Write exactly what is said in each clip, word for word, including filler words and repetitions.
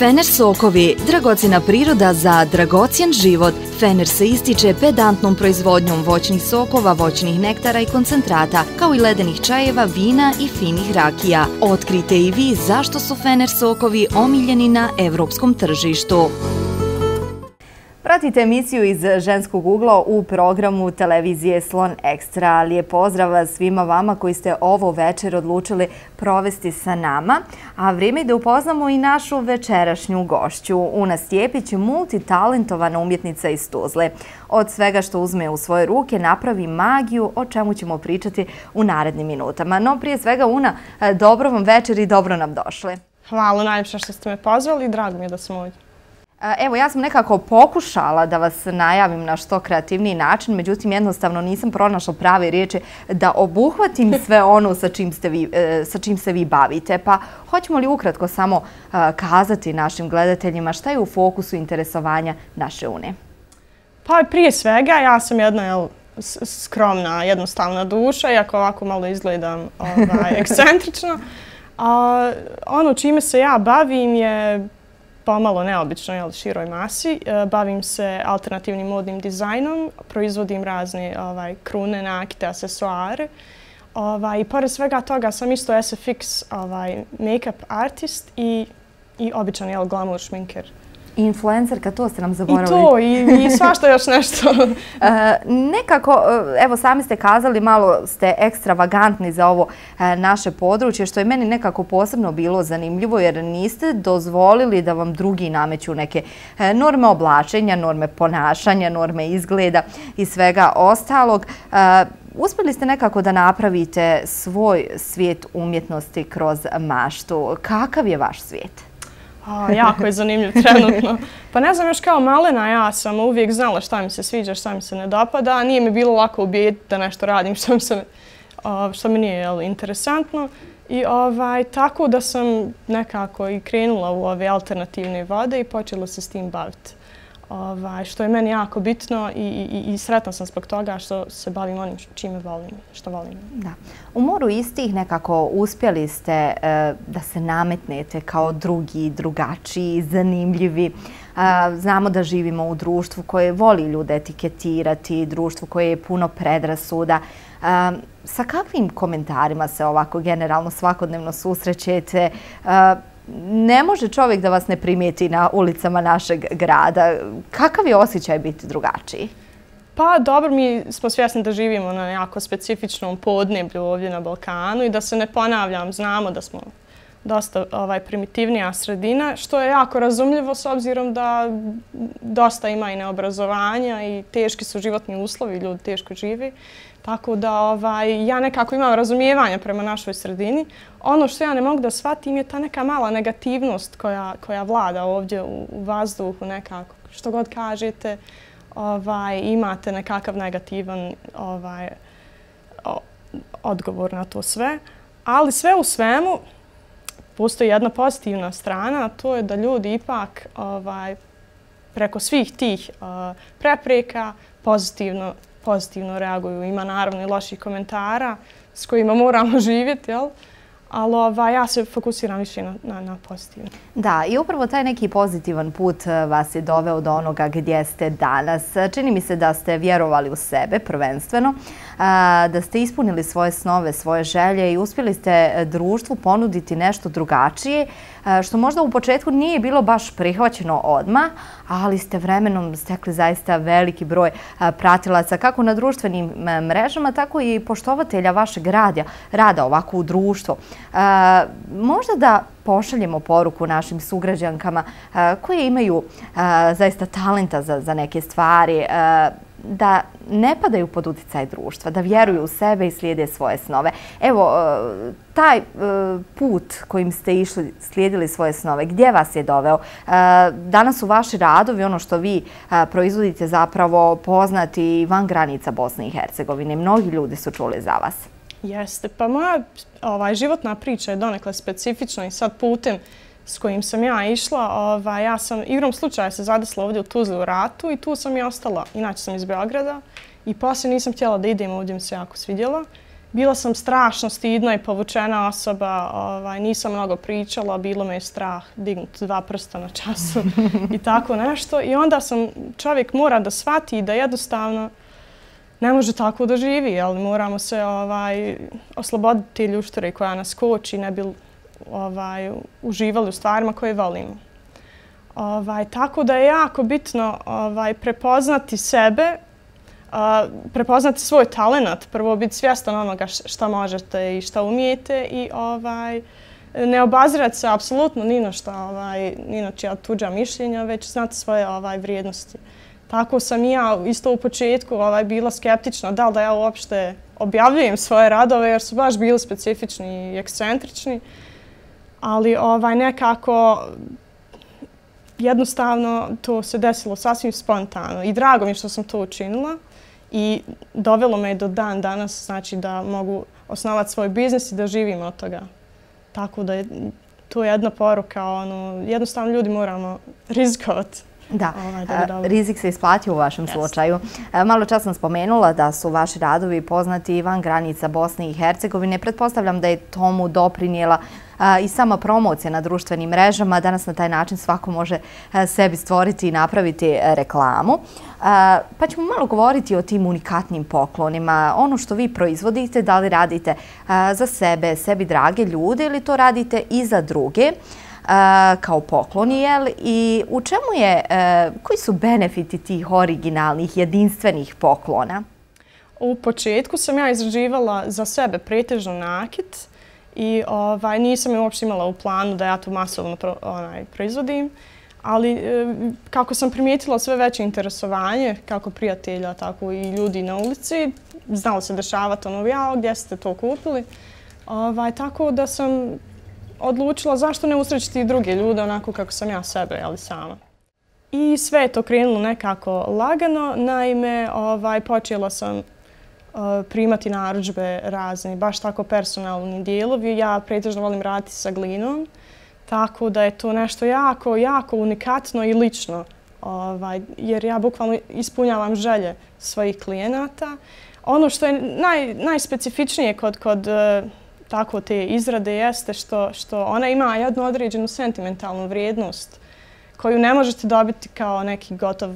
Fener sokovi, dragocjena priroda za dragocjen život. Fener se ističe pedantnom proizvodnjom voćnih sokova, voćnih nektara i koncentrata, kao i ledenih čajeva, vina i finih rakija. Otkrite i vi zašto su Fener sokovi omiljeni na evropskom tržištu. Pratite emisiju iz ženskog ugla u programu televizije Slon Ekstra. Lijep pozdrav svima vama koji ste ovo večer odlučili provesti sa nama. A vrijeme je da upoznamo i našu večerašnju gošću. Una Stjepić, multitalentovana umjetnica iz Tuzle. Od svega što uzme u svoje ruke napravi magiju, o čemu ćemo pričati u narednim minutama. No prije svega, Una, dobro vam večer i dobro nam došli. Hvala najljepše što ste me pozvali i drago mi je da sam ovdje. Evo, ja sam nekako pokušala da vas najavim na što kreativniji način, međutim jednostavno nisam pronašla prave riječi da obuhvatim sve ono sa čim, ste vi, sa čim se vi bavite. Pa hoćemo li ukratko samo kazati našim gledateljima šta je u fokusu interesovanja naše Une? Pa prije svega ja sam jedna jel, skromna, jednostavna duša, iako ovako malo izgledam ovaj, ekscentrično. A, ono čime se ja bavim je pomalo neobično, jel, široj masi. E, bavim se alternativnim modnim dizajnom, proizvodim razne ovaj, krune, nakite, asesoare. Ovaj, I pored svega toga sam isto S F X ovaj, make-up artist i, i običan jel, glamour šminker. Influencerka, to ste nam zaboravili. I to, i, i svašta još nešto. e, nekako, evo sami ste kazali, malo ste ekstravagantni za ovo e, naše područje, što je meni nekako posebno bilo zanimljivo, jer niste dozvolili da vam drugi nameću neke e, norme oblačenja, norme ponašanja, norme izgleda i svega ostalog. E, uspjeli ste nekako da napravite svoj svijet umjetnosti kroz maštu. Kakav je vaš svijet? A, jako je zanimljiv trenutno. Pa ne znam, još kao malena ja sam uvijek znala šta mi se sviđa, šta mi se ne dopada. Nije mi bilo lako ubijediti da nešto radim što mi, se, što mi nije jel, interesantno. I ovaj, tako da sam nekako i krenula u ove alternativne vode i počela se s tim baviti. Ovaj, što je meni jako bitno i, i, i sretna sam zbog toga što se bavim onim čime volim, što volim. Da. U moru istih nekako uspjeli ste e, da se nametnete kao drugi, drugačiji, zanimljivi. E, znamo da živimo u društvu koje voli ljude etiketirati, društvu koje je puno predrasuda. E, sa kakvim komentarima se ovako generalno svakodnevno susrećete? E, Ne može čovjek da vas ne primijeti na ulicama našeg grada. Kakav je osjećaj biti drugačiji? Pa dobro, mi smo svjesni da živimo na jako specifičnom podneblju ovdje na Balkanu i da se ne ponavljam, znamo da smo dosta ovaj, primitivnija sredina, što je jako razumljivo s obzirom da dosta ima i neobrazovanja i teški su životni uslovi, ljudi teško živi. Tako da ovaj, ja nekako imam razumijevanja prema našoj sredini. Ono što ja ne mogu da shvatim je ta neka mala negativnost koja, koja vlada ovdje u, u vazduhu nekako. Što god kažete, ovaj, imate nekakav negativan ovaj, o, odgovor na to sve. Ali sve u svemu postoji jedna pozitivna strana, a to je da ljudi ipak ovaj, preko svih tih uh, prepreka pozitivno pozitivno reaguju. Ima naravno i loših komentara s kojima moramo živjeti, jel? Ali ovaj, ja se fokusiram više na, na, na pozitivno. Da, i upravo taj neki pozitivan put vas je doveo do onoga gdje ste danas. Čini mi se da ste vjerovali u sebe prvenstveno, da ste ispunili svoje snove, svoje želje i uspjeli ste društvu ponuditi nešto drugačije, što možda u početku nije bilo baš prihvaćeno odmah, ali ste vremenom stekli zaista veliki broj pratilaca kako na društvenim mrežama, tako i poštovatelja vašeg rada, rada ovako u društvu. Možda da pošaljemo poruku našim sugrađankama koje imaju zaista talenta za, za neke stvari, da ne padaju pod utjecaj društva, da vjeruju u sebe i slijede svoje snove. Evo, taj put kojim ste išli, slijedili svoje snove, gdje vas je doveo? Danas su vaši radovi, ono što vi proizvodite, zapravo poznati van granica Bosne i Hercegovine. Mnogi ljudi su čuli za vas. Jeste, pa moja ovaj, životna priča je donekle specifična i sad putem s kojim sam ja išla, ovaj, ja sam igrom slučaja se zadesila ovdje u Tuzli u ratu i tu sam i ostala. Inače sam iz Beograda i poslije nisam htjela da idem, ovdje mi se jako svidjelo. bila sam strašno stidna i povučena osoba, ovaj, nisam mnogo pričala, bilo me je strah dignuti dva prsta na času i tako nešto. I onda sam, čovjek mora da shvati da jednostavno ne može tako da živi, ali moramo se ovaj, osloboditi ljuštire koja nas koči, ne bi ovaj, uživali u stvarima koje volimo. Ovaj, tako da je jako bitno ovaj, prepoznati sebe, Uh, prepoznati svoj talenat, prvo biti svjestan onoga šta možete i šta umijete i ovaj, ne obazirati se apsolutno ni na šta, ovaj, ni na čija tuđa mišljenja, već znati svoje ovaj, vrijednosti. Tako sam i ja isto u početku ovaj, bila skeptična da li da ja uopšte objavljujem svoje radove jer su baš bili specifični i ekscentrični, ali ovaj, nekako jednostavno to se desilo sasvim spontano i drago mi je što sam to učinila. I dovelo me do dan danas, znači da mogu osnovati svoj biznis i da živim od toga. Tako da je to jedna poruka, ono, jednostavno ljudi moramo rizikovati. Da, rizik se isplatio u vašem slučaju. Malo čas sam spomenula da su vaši radovi poznati i van granica Bosne i Hercegovine. Pretpostavljam da je tomu doprinijela i sama promocija na društvenim mrežama. Danas na taj način svako može sebi stvoriti i napraviti reklamu. Pa ćemo malo govoriti o tim unikatnim poklonima. Ono što vi proizvodite, da li radite za sebe, sebi drage ljude ili to radite i za druge? Kao pokloni, jel? I u čemu je, koji su benefiti tih originalnih, jedinstvenih poklona? U početku sam ja izrađivala za sebe pretežno nakit i ovaj, nisam je uopšte imala u planu da ja to masovno pro, onaj, proizvodim, ali kako sam primijetila sve veće interesovanje, kako prijatelja, tako i ljudi na ulici, znalo se dešavati ono, jao, gdje ste to kupili, ovaj, tako da sam odlučila zašto ne usrećiti i druge ljude onako kako sam ja sebe, ali sama. I sve je to krenulo nekako lagano, naime ovaj, počela sam uh, primati narudžbe razni, baš tako personalni dijelovi. Ja pretežno volim raditi sa glinom, tako da je to nešto jako, jako unikatno i lično, ovaj, jer ja bukvalno ispunjavam želje svojih klijenata. Ono što je naj, najspecifičnije kod, kod uh, tako te izrade jeste što, što ona ima jednu određenu sentimentalnu vrijednost koju ne možete dobiti kao neki gotov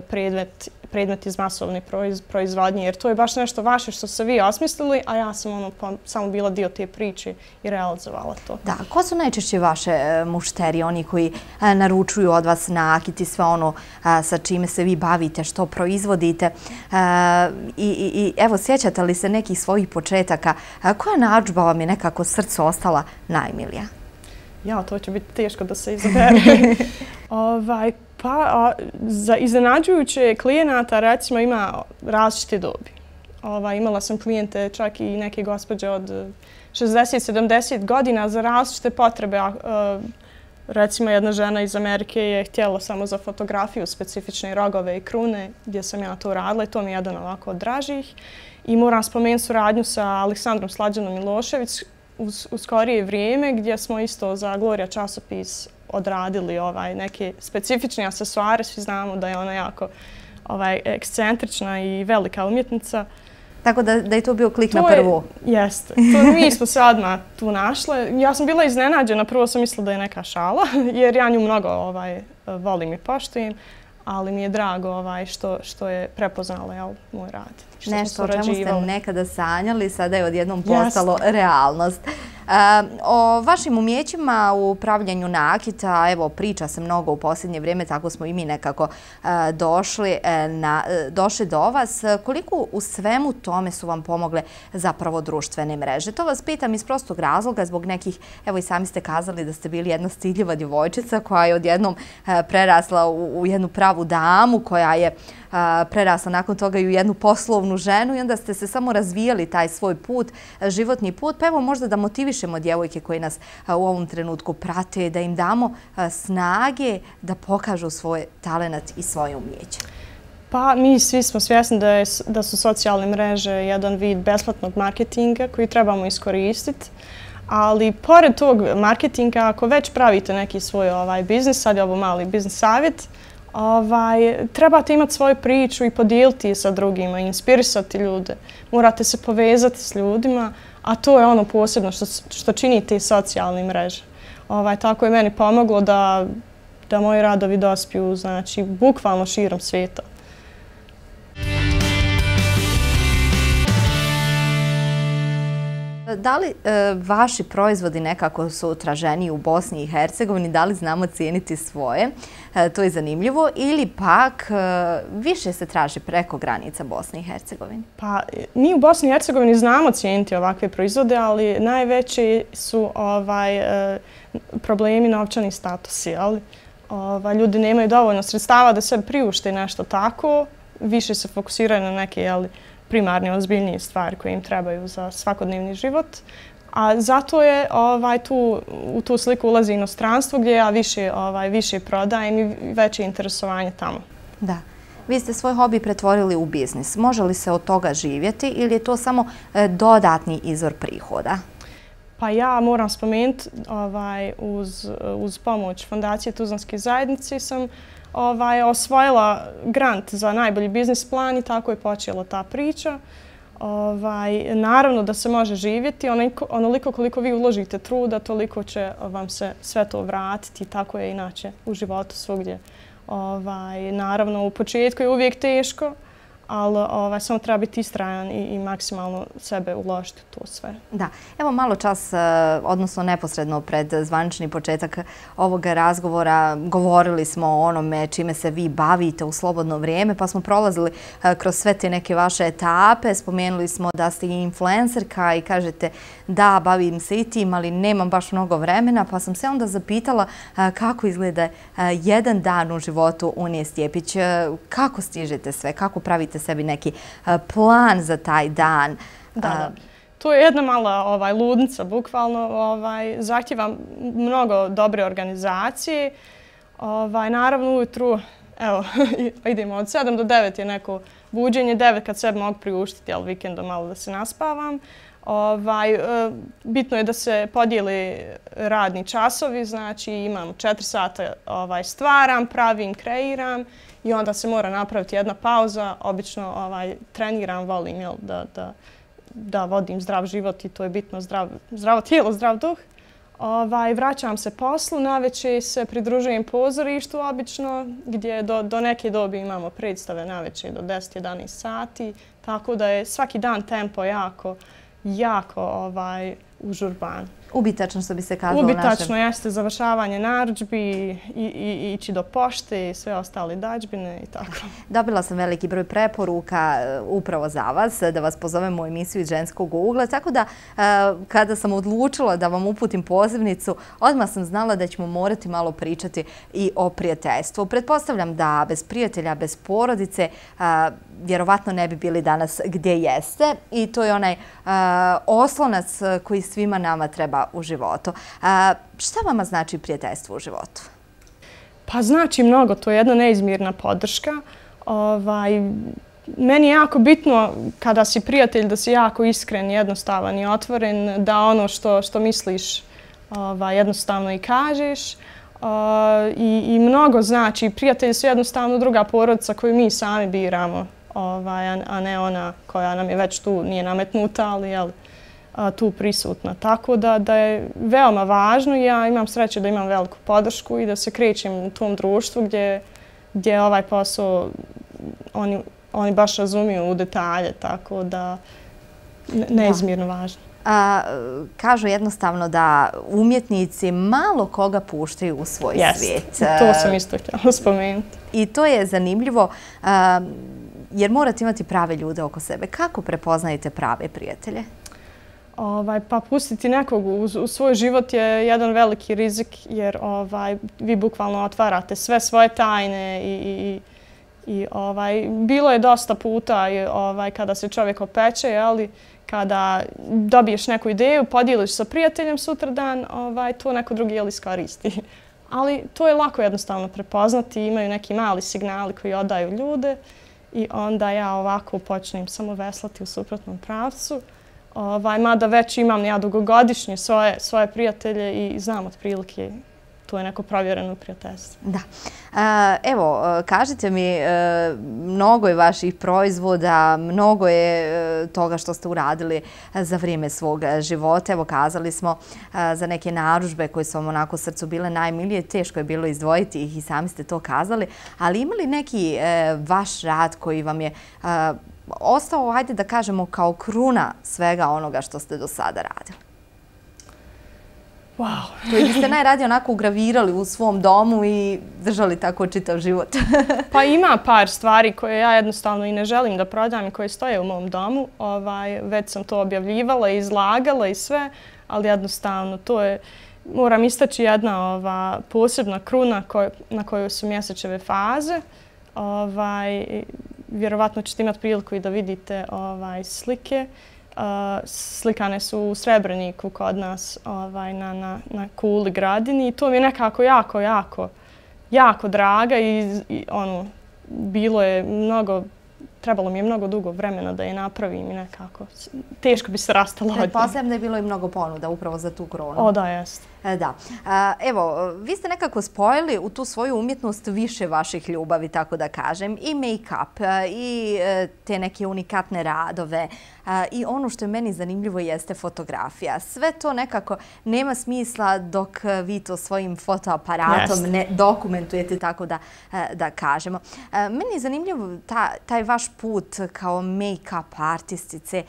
predmet, predmet iz masovne proiz, proizvodnje, jer to je baš nešto vaše što ste vi osmislili, a ja sam ono, pa, samo bila dio te priče i realizovala to. Da, ko su najčešće vaše mušterije, oni koji a, naručuju od vas nakit i sve ono a, sa čime se vi bavite, što proizvodite? A, i, i, I evo, sjećate li se nekih svojih početaka? A, koja narudžba vam je nekako srcu ostala najmilija? Ja, to će biti teško da se izabere. ovaj, pa, a, za iznenađujuće klijenata, recimo, ima različite dobi. Ovaj, imala sam klijente, čak i neke gospođe od šezdeset sedamdeset godina za različite potrebe. A, a, recimo, jedna žena iz Amerike je htjela samo za fotografiju specifične rogove i krune, gdje sam ja to radila i to mi je jedan ovako od dražih. I moram spomenuti suradnju sa Aleksandrom Slađanom Milošević, U, u skorije vrijeme gdje smo isto za Gloria časopis odradili ovaj, neke specifične aksesuare. Svi znamo da je ona jako ovaj, ekscentrična i velika umjetnica. Tako da, da je to bio klik to na prvu? Je, jeste. To mi smo se odmah tu našle. Ja sam bila iznenađena. Prvo sam mislila da je neka šala, jer ja nju mnogo ovaj, volim i poštujem. Ali mi je drago ovaj, što, što je prepoznala jel, moj rad. Nešto o čemu ste nekada sanjali, sada je odjednom postalo yes. realnost. E, o vašim umjećima u pravljenju nakita, evo, priča se mnogo u posljednje vrijeme, tako smo i mi nekako e, došli, e, na, e, došli do vas. Koliko u svemu tome su vam pomogle zapravo društvene mreže? To vas pitam iz prostog razloga, zbog nekih, evo i sami ste kazali da ste bili jedna stidljiva djevojčica koja je odjednom e, prerasla u, u jednu pravu damu, koja je a, prerasla nakon toga i u jednu poslovnu ženu i onda ste se samo razvijali taj svoj put, životni put. Pa evo možda da motivišemo djevojke koje nas a, u ovom trenutku prate, da im damo a, snage da pokažu svoj talenat i svoje umjeće. Pa mi svi smo svjesni da, je, da su socijalne mreže jedan vid besplatnog marketinga koji trebamo iskoristiti. Ali pored tog marketinga, ako već pravite neki svoj ovaj biznis, sad je ovo mali biznis savjet, Ovaj, trebate imati svoju priču i podijeliti je sa drugima, inspirisati ljude. Morate se povezati s ljudima, a to je ono posebno što, što čini te socijalne mreže. Ovaj, tako je meni pomoglo da, da moji radovi dospiju, znači, bukvalno širom svijeta. Da li e, vaši proizvodi nekako su traženiji u Bosni i Hercegovini, da li znamo cijeniti svoje, e, to je zanimljivo, ili pak e, više se traži preko granica Bosne i Hercegovine? Pa mi u Bosni i Hercegovini znamo cijeniti ovakve proizvode, ali najveći su ovaj, e, problemi novčani statusi. Ali, ovaj, ljudi nemaju dovoljno sredstava da se priušte nešto tako, više se fokusiraju na neke, jeli, primarne, ozbiljnije stvari koje im trebaju za svakodnevni život. A zato je ovaj, tu, u tu sliku ulazi inostranstvo gdje ja više, ovaj, više prodajem i veće interesovanje tamo. Da. Vi ste svoj hobi pretvorili u biznis. Može li se od toga živjeti ili je to samo e, dodatni izvor prihoda? Pa ja moram spomenuti, ovaj, uz, uz pomoć Fondacije Tuzlanske zajednice sam Ovaj, osvojila grant za najbolji biznis plan i tako je počela ta priča. Ovaj, naravno da se može živjeti, onoliko, onoliko koliko vi uložite truda, toliko će vam se sve to vratiti. Tako je inače u životu svugdje. Ovaj, naravno u početku je uvijek teško, ali ovaj, samo treba biti istrajan i, i maksimalno sebe uložiti u to sve. Da. Evo malo čas, odnosno neposredno pred zvanični početak ovog razgovora, govorili smo o onome čime se vi bavite u slobodno vrijeme, pa smo prolazili kroz sve te neke vaše etape. Spomenuli smo da ste i influencerka i kažete da, bavim se i tim, ali nemam baš mnogo vremena, pa sam se onda zapitala kako izgleda jedan dan u životu Unije Stjepić. Kako stižete sve? Kako pravite sebi neki plan za taj dan? Da, da. To je jedna mala ovaj, ludnica, bukvalno. Ovaj, zahtjeva mnogo dobre organizacije. Ovaj, naravno, ujutru, evo, idemo od sedam do devet je neko buđenje, devet kad sebi mogu priuštiti, ali vikendom malo da se naspavam. Ovaj, bitno je da se podijeli radni časovi, znači imam četiri sata ovaj, stvaram, pravim, kreiram i onda se mora napraviti jedna pauza. Obično ovaj, treniram, volim jel, da, da, da vodim zdrav život i to je bitno, zdrav, zdravo tijelo, zdrav duh. Ovaj, vraćam se poslu, navečer se pridružujem pozorištu obično gdje do, do neke dobi imamo predstave navečer do deset do jedanaest sati, tako da je svaki dan tempo jako jako ovaj, užurban. Ubitačno, što bi se kazalo Ubitačno našem. jeste završavanje narudžbi i, i, i ići do pošte i sve ostale dađbine i tako. Dobila sam veliki broj preporuka upravo za vas, da vas pozovem u emisiju iz Ženskog ugla, tako da kada sam odlučila da vam uputim pozivnicu, odmah sam znala da ćemo morati malo pričati i o prijateljstvu. Pretpostavljam da bez prijatelja, bez porodice, vjerovatno ne bi bili danas gdje jeste i to je onaj oslonac koji svima nama treba u životu. A, šta vama znači prijateljstvo u životu? Pa znači mnogo, to je jedna neizmjerna podrška. Ovaj, meni je jako bitno kada si prijatelj da si jako iskren, jednostavan i otvoren, da ono što, što misliš ovaj, jednostavno i kažeš. Uh, i, I mnogo znači, prijatelji su jednostavno druga porodica koju mi sami biramo, ovaj, a ne ona koja nam je već tu, nije nametnuta, ali jel, tu prisutna. Tako da, da je veoma važno i ja imam sreće da imam veliku podršku i da se krećem u tom društvu gdje, gdje ovaj posao oni, oni baš razumiju u detalje, tako da neizmjerno važno. A, kažu jednostavno da umjetnici malo koga puštaju u svoj yes, svijet. To sam isto htjela spomenuti. I to je zanimljivo a, jer morate imati prave ljude oko sebe. Kako prepoznajete prave prijatelje? Ovaj, pa pustiti nekog u, u svoj život je jedan veliki rizik jer ovaj, vi bukvalno otvarate sve svoje tajne i, i, i ovaj, bilo je dosta puta i, ovaj, kada se čovjek opeče, ali kada dobiješ neku ideju, podijeliš sa prijateljem sutradan, ovaj, to neko drugi jel iskoristi. Ali to je lako jednostavno prepoznati, imaju neki mali signali koji odaju ljude i onda ja ovako počnem samo veslati u suprotnom pravcu. Ovaj, mada već imam ja dugogodišnje svoje, svoje prijatelje i znam otprilike to je neko provjereno prijateljstvo. Da. Evo, kažite mi, mnogo je vaših proizvoda, mnogo je toga što ste uradili za vrijeme svog života. Evo, kazali smo za neke narudžbe koje su vam onako srcu bile najmilije. Teško je bilo izdvojiti ih i sami ste to kazali. Ali ima li neki vaš rad koji vam je ostao, hajde da kažemo, kao kruna svega onoga što ste do sada radili? Wow. Koji biste najradije onako ugravirali u svom domu i držali tako čitav život? Pa ima par stvari koje ja jednostavno i ne želim da prodam i koje stoje u mom domu. Ovaj, već sam to objavljivala i izlagala i sve, ali jednostavno to je, moram istaći jedna ova, posebna kruna koj, na kojoj su mjesečeve faze. Ovaj, vjerovatno ćete imati priliku i da vidite ovaj, slike. Uh, slikane su u Srebreniku kod nas ovaj, na, na, na Kuli Gradini i to mi je nekako jako, jako, jako draga i, i ono, bilo je mnogo, trebalo mi je mnogo dugo vremena da je napravim i nekako teško bi se rastala od nje. Pretpostavljam da je bilo i mnogo ponuda upravo za tu kronu. O, da, jest. Da. Evo, vi ste nekako spojili u tu svoju umjetnost više vaših ljubavi, tako da kažem, i make-up, i te neke unikatne radove, i ono što je meni zanimljivo jeste fotografija. Sve to nekako nema smisla dok vi to svojim fotoaparatom yes. ne dokumentujete, tako da, da kažemo. Meni je zanimljivo ta, taj vaš put kao make-up artistice.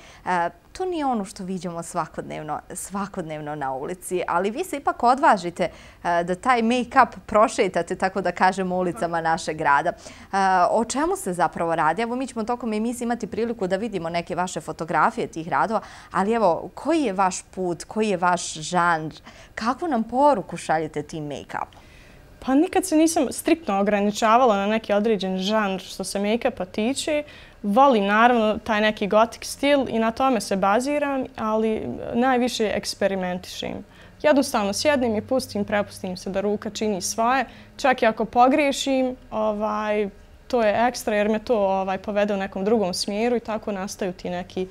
To nije ono što viđamo svakodnevno, svakodnevno na ulici, ali vi se ipak odvažite da taj make-up prošetate, tako da kažemo, ulicama našeg grada. O čemu se zapravo radi? Evo, mi ćemo tokom emisije imati priliku da vidimo neke vaše fotografije tih radova, ali evo, koji je vaš put, koji je vaš žanr? Kakvu nam poruku šaljete tim make-upom? Pa nikad se nisam striktno ograničavala na neki određen žanr što se make-upa tiče. Volim naravno taj neki gotik stil i na tome se baziram, ali najviše eksperimentišem. Jednostavno sjednem i pustim, prepustim se da ruka čini svoje. Čak i ako pogriješim, ovaj, to je ekstra jer me to ovaj, povede u nekom drugom smjeru i tako nastaju ti neki...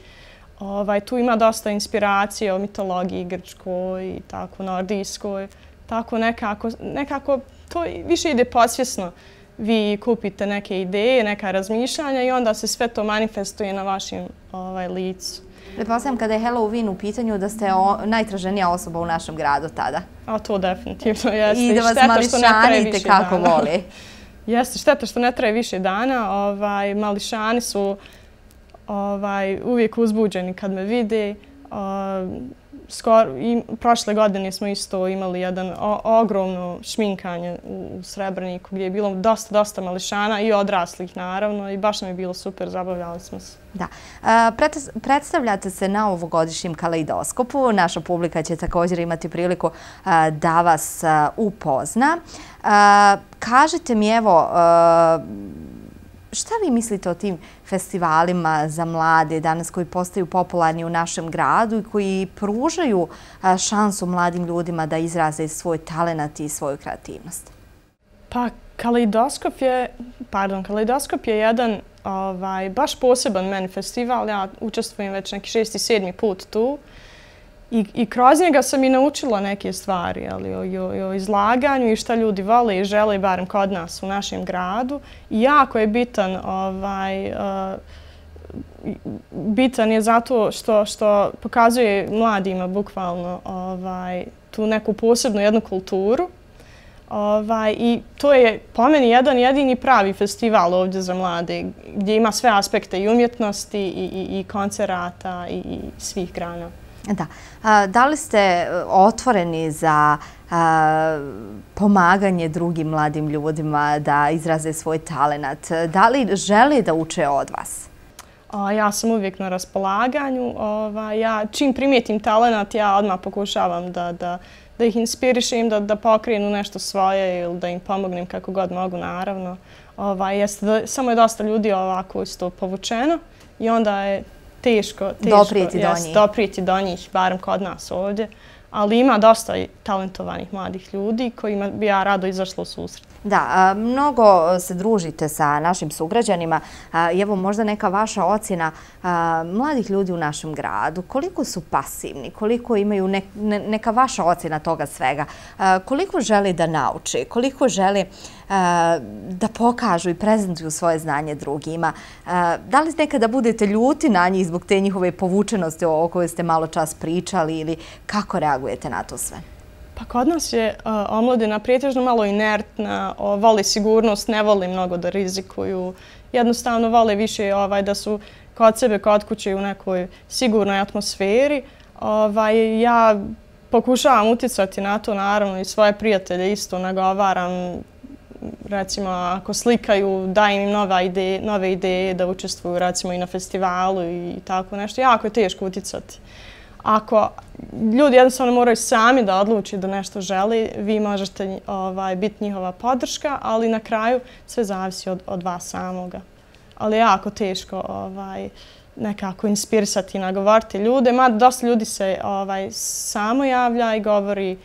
Ovaj, tu ima dosta inspiracije o mitologiji grčkoj i tako nordijskoj. Tako nekako, nekako to više ide podsvjesno. Vi kupite neke ideje, neka razmišljanja i onda se sve to manifestuje na vašem ovaj, licu. Pretpostavljam kada je Halloween u pitanju da ste o, najtraženija osoba u našem gradu tada. A to definitivno jeste. I da vas mališanite kako voli. Jeste, šteta što ne traje više dana. Ovaj, mališani su ovaj, uvijek uzbuđeni kad me vide. Uh, Skoro, i prošle godine smo isto imali jedan o, ogromno šminkanje u, u Srebreniku gdje je bilo dosta, dosta mališana i odraslih naravno i baš nam je bilo super, zabavljali smo se. Da. Uh, predstavljate se na ovogodišnjem Kaleidoskopu. Naša publika će također imati priliku uh, da vas uh, upozna. Uh, kažite mi, evo, uh, šta vi mislite o tim festivalima za mlade danas koji postaju popularni u našem gradu i koji pružaju šansu mladim ljudima da izraze svoj talenat i svoju kreativnost? Pa Kaleidoskop je, pardon, Kaleidoskop je jedan ovaj, baš poseban meni festival. Ja učestvujem već neki šesti, sedmi put tu. I, I kroz njega sam i naučila neke stvari, ali o, o, o izlaganju i šta ljudi vole i žele, barem kod nas u našem gradu. I jako je bitan, ovaj, uh, bitan je zato što, što pokazuje mladima bukvalno ovaj, tu neku posebnu jednu kulturu. Ovaj, I to je po meni jedan jedini pravi festival ovdje za mlade, gdje ima sve aspekte i umjetnosti i, i, i koncerata i, i svih grana. Da. Da li ste otvoreni za pomaganje drugim mladim ljudima da izraze svoj talenat? Da li žele da uče od vas? Ja sam uvijek na raspolaganju. Ja čim primijetim talenat, ja odmah pokušavam da, da, da ih inspirišem, da, da pokrenu nešto svoje ili da im pomognem kako god mogu, naravno. Jeste da, samo je dosta ljudi ovako isto povučeno i onda je teško, teško doprijeti do njih. Doprijeti do njih, barem kod nas ovdje. Ali ima dosta talentovanih mladih ljudi kojima bi ja rado izašla u susret. Da, mnogo se družite sa našim sugrađanima i evo možda neka vaša ocjena mladih ljudi u našem gradu. Koliko su pasivni, koliko imaju neka vaša ocjena toga svega, koliko želi da nauči, koliko želi da pokažu i prezentuju svoje znanje drugima. Da li nekada budete ljuti na njih zbog te njihove povučenosti o kojoj ste malo čas pričali ili kako reagujete na to sve? Pa kod nas je omladina pretežno malo inertna, voli sigurnost, ne voli mnogo da rizikuju. Jednostavno vole više da su kod sebe, kod kuće u nekoj sigurnoj atmosferi. Ja pokušavam uticati na to, naravno, i svoje prijatelje isto nagovaram. Recimo, ako slikaju, dajem im nove ideje da učestvuju recimo i na festivalu i tako nešto. Jako je teško uticati. Ako ljudi jednostavno moraju sami da odluči da nešto želi, vi možete biti njihova podrška, ali na kraju sve zavisi od vas samoga. Ali je jako teško nekako inspirisati i nagovoriti ljude. Mada dosta ljudi se samo javlja i govori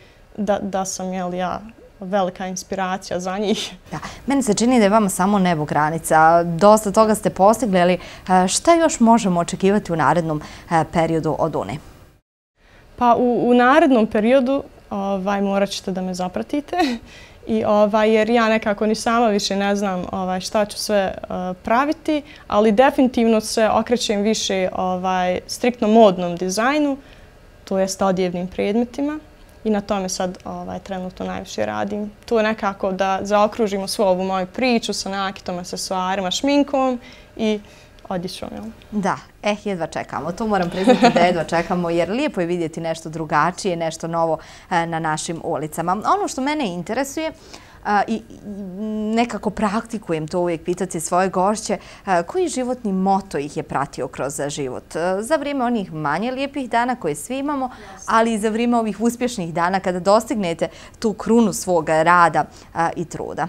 da sam ja velika inspiracija za njih. Da, meni se čini da je vama samo nebo granica. Dosta toga ste postigli, ali šta još možemo očekivati u narednom periodu od U N E? Pa u narednom periodu morat ćete da me zapratite, jer ja nekako ni sama više ne znam šta ću sve praviti, ali definitivno se okrećem više striktno modnom dizajnu, to jest odjevnim predmetima. I na tome sad trenutno najviše radim. To je nekako da zaokružimo svu ovu moju priču sa nakitom, aksesuarima, šminkom i odjećom. Da, eh, jedva čekamo. To moram priznati da jedva čekamo jer lijepo je vidjeti nešto drugačije, nešto novo na našim ulicama. Ono što mene interesuje i nekako praktikujem to uvijek pitati svoje gošće, koji životni moto ih je pratio kroz život? Za vrijeme onih manje lijepih dana koje svi imamo, ali i za vrijeme ovih uspješnih dana kada dostignete tu krunu svog rada i truda.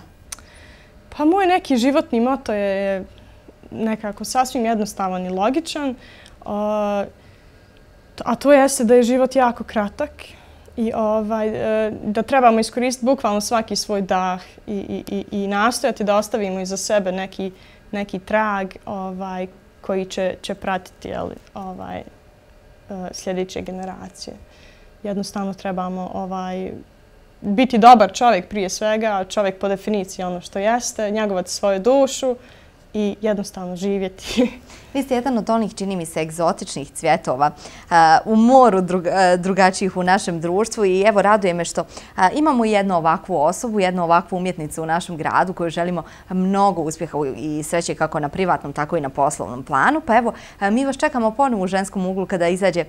Pa moj neki životni moto je nekako sasvim jednostavan i logičan, a to jeste da je život jako kratak i da trebamo iskoristiti bukvalno svaki svoj dah i nastojati da ostavimo iza sebe neki trag koji će pratiti sljedeće generacije. Jednostavno trebamo biti dobar čovjek prije svega, čovjek po definiciji ono što jeste, njegovati svoju dušu i jednostavno živjeti. Vi ste jedan od onih, čini mi se, egzotičnih cvjetova u moru drugačijih u našem društvu i evo raduje me što imamo jednu ovakvu osobu, jednu ovakvu umjetnicu u našem gradu koju želimo mnogo uspjeha i sreće kako na privatnom, tako i na poslovnom planu. Pa evo, mi vas čekamo ponovo u ženskom uglu kada izađe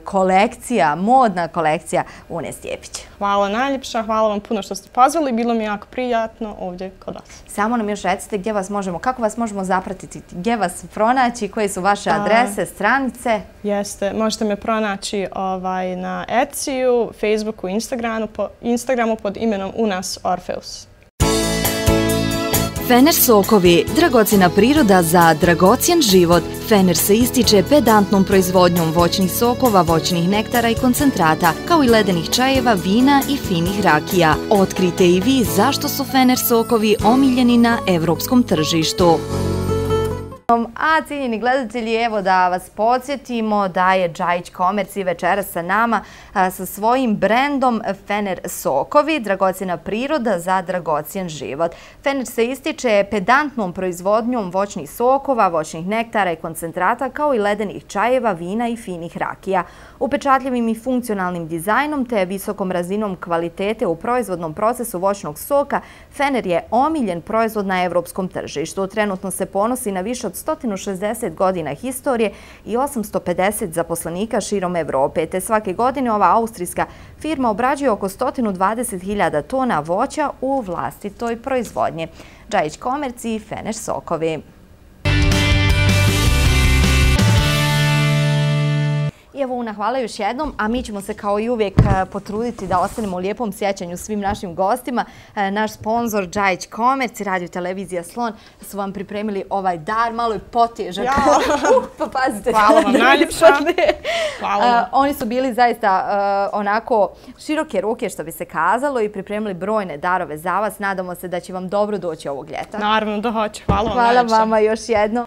kolekcija, modna kolekcija U N E Stjepić. Hvala najljepša, hvala vam puno što ste pozvali, bilo mi jako prijatno ovdje kod vas. Samo nam još recite gdje vas možemo, kako vas možemo zapratiti, gdje vas pronaći, koje su vaše adrese, stranice? Jeste, možete me pronaći na Etsiju, Facebooku, Instagramu pod imenom Unas Orfeus. Fener sokovi, dragocjena priroda za dragocjen život. Fener se ističe pedantnom proizvodnjom voćnih sokova, voćnih nektara i koncentrata, kao i ledenih čajeva, vina i finih rakija. Otkrite i vi zašto su Fener sokovi omiljeni na evropskom tržištu. A cijenjeni gledatelji, evo da vas podsjetimo da je Džajić Komerci večeras sa nama sa svojim brendom Fener sokovi, dragocjena priroda za dragocjen život. Fener se ističe pedantnom proizvodnjom voćnih sokova, voćnih nektara i koncentrata, kao i ledenih čajeva, vina i finih rakija. Upečatljivim i funkcionalnim dizajnom te visokom razinom kvalitete u proizvodnom procesu voćnog soka, Fener je omiljen proizvod na evropskom tržištu. Trenutno se ponosi na više od sto šezdeset godina historije i osamsto pedeset zaposlenika širom Evrope, te svake godine ova austrijska firma obrađuje oko sto dvadeset hiljada tona voća u vlastitoj proizvodnji. Džajić Komerci i Fener sokovi. I evo u puno hvala još jednom, a mi ćemo se kao i uvijek potruditi da ostanemo u lijepom sjećanju svim našim gostima. Naš sponsor Džajić Komerc i Radio Televizija Slon su vam pripremili ovaj dar, malo je potežak. uh, pa pazite. Hvala vam najljepša. Hvala vam. Oni su bili zaista onako široke ruke, što bi se kazalo, i pripremili brojne darove za vas. Nadamo se da će vam dobro doći ovog ljeta. Naravno da hoće. Hvala vam Hvala najljepša. vama još jednom.